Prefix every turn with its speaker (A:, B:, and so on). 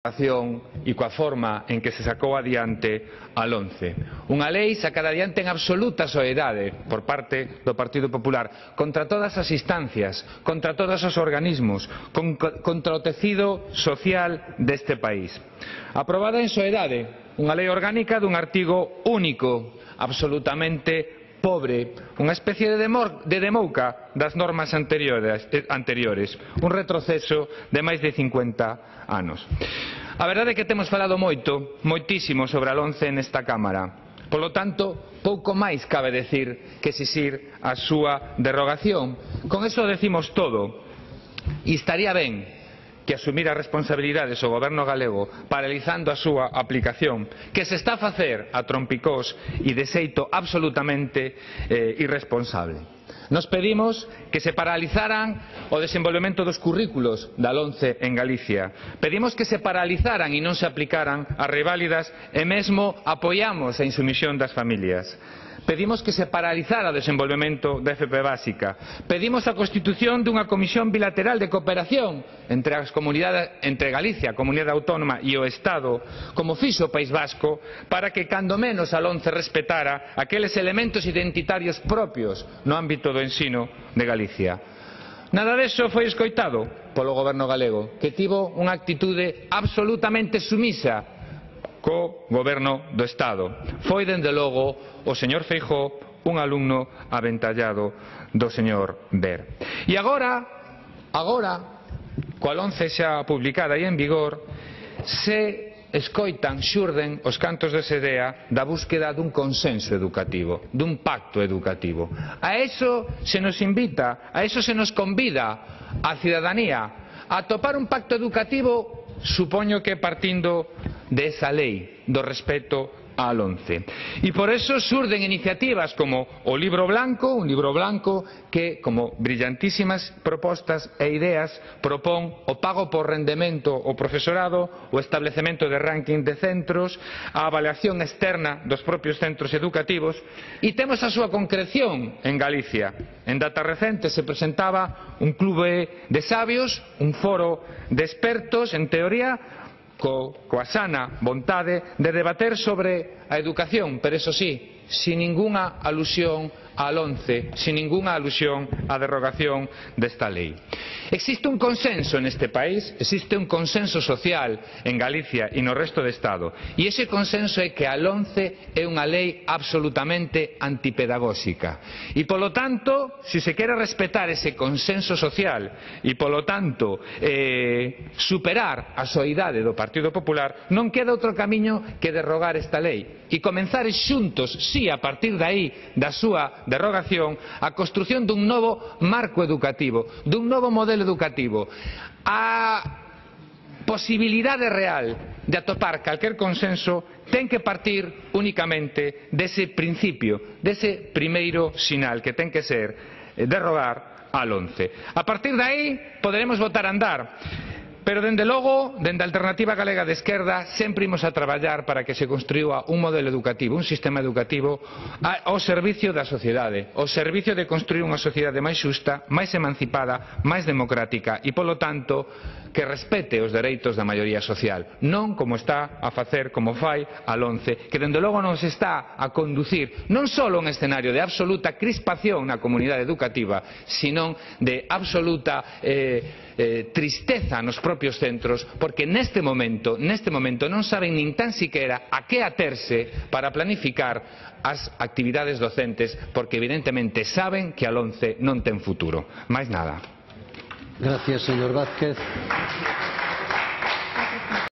A: e coa forma en que se sacou adiante a LOMCE. Unha lei sacada adiante en absoluta soidade por parte do Partido Popular, contra todas as instancias, contra todos os organismos, contra o tecido social deste país. Aprobada en soidade, unha lei orgánica dun artigo único, absolutamente pobre, unha especie de demouca das normas anteriores, un retroceso de máis de 50 anos. A verdade é que temos falado moitísimo sobre a LOMCE nesta Cámara. Polo tanto, pouco máis cabe decir que exixir a súa derrogación. Con eso decimos todo. E estaría ben que asumira responsabilidades o Goberno galego paralizando a súa aplicación, que se está a facer a trompicós e de xeito absolutamente irresponsable. Nos pedimos que se paralizaran o desenvolvemento dos currículos da LOMCE en Galicia. Pedimos que se paralizaran e non se aplicaran as reválidas e mesmo apoiamos a insumisión das familias. Pedimos que se paralizara o desenvolvemento da FP básica. Pedimos a constitución dunha comisión bilateral de cooperación entre Galicia, a comunidade autónoma, e o Estado, como fixo o País Vasco, para que cando menos a LOMCE respetara aqueles elementos identitarios propios no ámbito do ensino de Galicia. Nada deso foi escoitado polo Goberno galego, que tivo unha actitude absolutamente sumisa co Goberno do Estado. Foi, dende logo, o señor Feijóo un alumno aventallado do señor Ver. E agora, coa LOMCE xa publicada e en vigor, se xurden os cantos de sedea da búsqueda dun consenso educativo, dun pacto educativo. A eso se nos invita, a eso se nos convida a cidadanía, a topar un pacto educativo, supoño que partindo de esa lei, do respeto á LOMCE. E por eso xurden iniciativas como o libro blanco, un libro blanco que, como brillantísimas propostas e ideas, propón o pago por rendemento ao profesorado, o establecemento de ranking de centros, a avaliación externa dos propios centros educativos, e temos a súa concreción en Galicia. En data recente se presentaba un clube de sabios, un foro de expertos en teoría, coa sana vontade de debater sobre a educación, pero eso sí, sin ningunha alusión á LOMCE, sin ningunha alusión á derrogación desta lei. Existe un consenso neste país, existe un consenso social en Galicia e no resto do Estado, e ese consenso é que a LOMCE é unha lei absolutamente antipedagóxica. E polo tanto, se se quere respetar ese consenso social e polo tanto superar a soidade do Partido Popular, non queda outro camiño que derrogar esta lei e comenzar xuntos, si a partir de aí da súa derrogación, a construción dun novo marco educativo, dun novo modelo educativo, a posibilidade real de atopar calquer consenso ten que partir únicamente dese principio, dese primeiro sinal que ten que ser derrogar a LOMCE. A partir de aí poderemos botar a andar. Pero, dende logo, dende a Alternativa Galega de Esquerda, sempre imos a traballar para que se construía un modelo educativo, un sistema educativo ao servicio da sociedade, ao servicio de construir unha sociedade máis xusta, máis emancipada, máis democrática e, polo tanto, que respete os dereitos da maioría social, non como está a facer, como fai a LOMCE, que dende logo nos está a conducir non só a un escenario de absoluta crispación na comunidade educativa, sino de absoluta tristeza nos propios centros, porque neste momento non saben nin tan siquiera a que aterse para planificar as actividades docentes, porque evidentemente saben que a LOMCE non ten futuro. Máis nada.
B: Gracias, señor Vázquez.